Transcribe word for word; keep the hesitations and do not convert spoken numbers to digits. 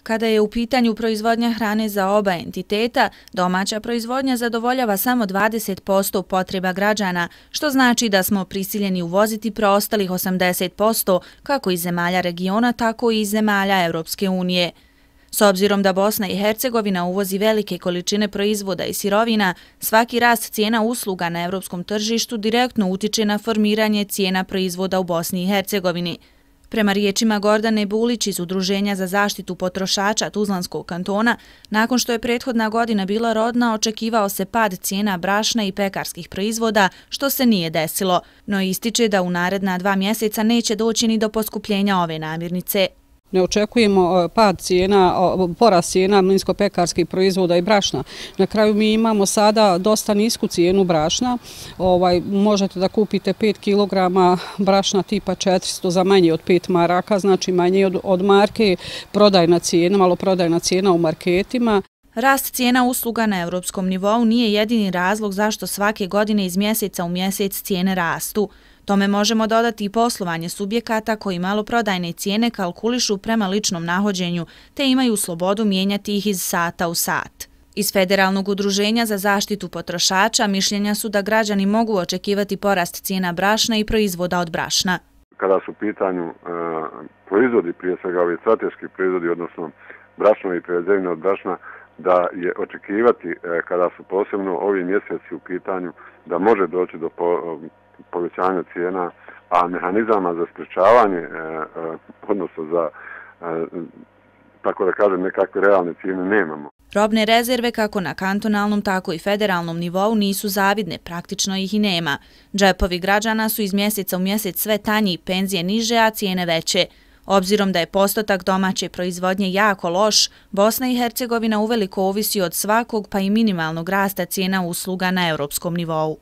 Kada je u pitanju proizvodnja hrane za oba entiteta, domaća proizvodnja zadovoljava samo dvadeset posto potreba građana, što znači da smo prisiljeni uvoziti preostalih osamdeset posto kako iz zemalja regiona, tako i iz zemalja Europske unije. S obzirom da Bosna i Hercegovina uvozi velike količine proizvoda i sirovina, svaki rast cijena usluga na europskom tržištu direktno utiče na formiranje cijena proizvoda u Bosni i Hercegovini. Prema riječima Gordane Bulić iz Udruženja za zaštitu potrošača Tuzlanskog kantona, nakon što je prethodna godina bila rodna, očekivao se pad cijena brašna i pekarskih proizvoda, što se nije desilo, no ističe da u naredna dva mjeseca neće doći ni do poskupljenja ove namirnice. Ne očekujemo pad cijena, porast cijena mlinsko-pekarskih proizvoda i brašna. Na kraju mi imamo sada dosta nisku cijenu brašna. Ovaj, možete da kupite pet kilograma brašna tipa četiristo za manje od pet maraka, znači manje od, od marke, prodajna cijena, malo prodajna cijena u marketima. Rast cijena usluga na europskom nivou nije jedini razlog zašto svake godine iz mjeseca u mjesec cijene rastu. Tome možemo dodati i poslovanje subjekata koji maloprodajne cijene kalkulišu prema ličnom nahođenju te imaju slobodu mijenjati ih iz sata u sat. Iz Federalnog udruženja za zaštitu potrošača mišljenja su da građani mogu očekivati porast cijena brašna i proizvoda od brašna. Kada su u pitanju e, proizvodi, prije svega ovi strateški proizvodi, odnosno brašno i prerađevine od brašna, da je očekivati e, kada su posebno ovi mjeseci u pitanju da može doći do po, povećanja cijena, a mehanizama za sprečavanje, e, e, odnosno za, e, tako da kažem, nekakve realne cijene nemamo. Robne rezerve kako na kantonalnom, tako i federalnom nivou nisu zavidne, praktično ih i nema. Džepovi građana su iz mjeseca u mjesec sve tanji, penzije niže, a cijene veće. Obzirom da je postotak domaće proizvodnje jako loš, Bosna i Hercegovina uveliko ovisi od svakog pa i minimalnog rasta cijena usluga na europskom nivou.